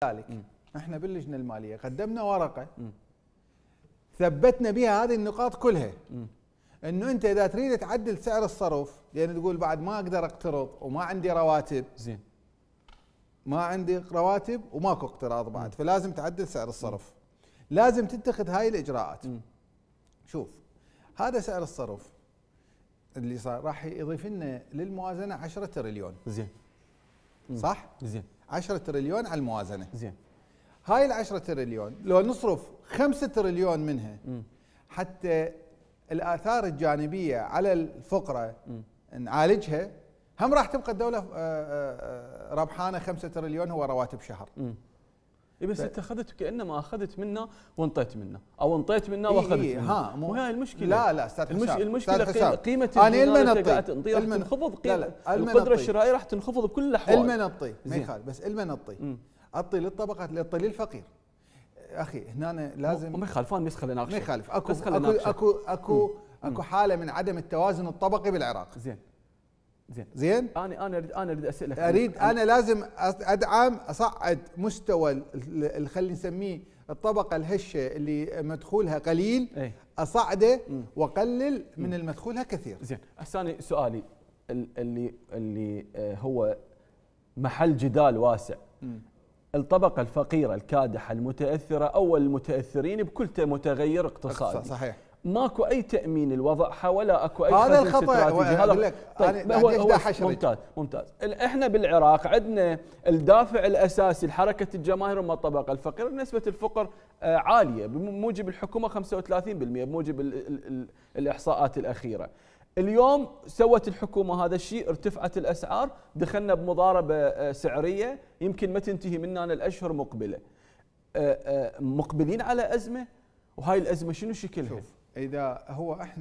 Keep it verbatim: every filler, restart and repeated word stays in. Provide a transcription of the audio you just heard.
ذلك احنا باللجنه الماليه قدمنا ورقه م. ثبتنا بها هذه النقاط كلها، م. انه انت اذا تريد تعدل سعر الصرف، لان يعني تقول بعد ما اقدر اقترض وما عندي رواتب، زين ما عندي رواتب وماكو اقتراض بعد، م. فلازم تعدل سعر الصرف، م. لازم تتخذ هاي الاجراءات. م. شوف هذا سعر الصرف اللي صار راح يضيف لنا للموازنه عشرة تريليون، زين صح؟ زين عشرة تريليون على الموازنه، زين هاي ال عشرة تريليون لو نصرف خمسة تريليون منها م. حتى الاثار الجانبيه على الفقره م. نعالجها، هم راح تبقى الدوله ربحانه خمسة تريليون هو رواتب شهر. م. اي بس انت اخذت كانما اخذت منا وانطيت منا، او انطيت منا واخذت إيه منا. ها مو هاي المشكله. لا لا استاذ المش... حسام المشكله حسام. قيمه انا المنطي راح تنخفض، قيمه القدره الشرائيه راح تنخفض بكل الاحوال. المنطي ما يخالف، بس المنطي اعطي للطبقات، اعطي للفقير. اخي هنا لازم ما يخالف، انا بس خلينا نناقش، ما يخالف. اكو بس اكو اكو اكو, أكو حاله من عدم التوازن الطبقي بالعراق. زين زين زين انا انا اريد انا اريد اسالك، اريد انا لازم ادعم اصعد مستوى اللي خلينا نسميه الطبقه الهشه اللي مدخولها قليل، ايه؟ اصعده واقلل من المدخولها كثير. زين هسه انا سؤالي اللي اللي هو محل جدال واسع، م. الطبقه الفقيره الكادحه المتاثره او المتاثرين بكل متغير اقتصادي، صحيح، ماكو اي تامين لوضعها ولا اكو اي هذا الخطا. هذا طيب هو, هو ممتاز ممتاز. احنا بالعراق عندنا الدافع الاساسي لحركه الجماهير هم الطبقه الفقيره، نسبه الفقر عاليه بموجب الحكومه خمسة وثلاثين بالمئة بموجب ال ال ال الاحصاءات الاخيره. اليوم سوت الحكومه هذا الشيء، ارتفعت الاسعار، دخلنا بمضاربه سعريه يمكن ما تنتهي مننا الاشهر مقبله. مقبلين على ازمه، وهاي الازمه شنو شكلها؟ اذا هو احنا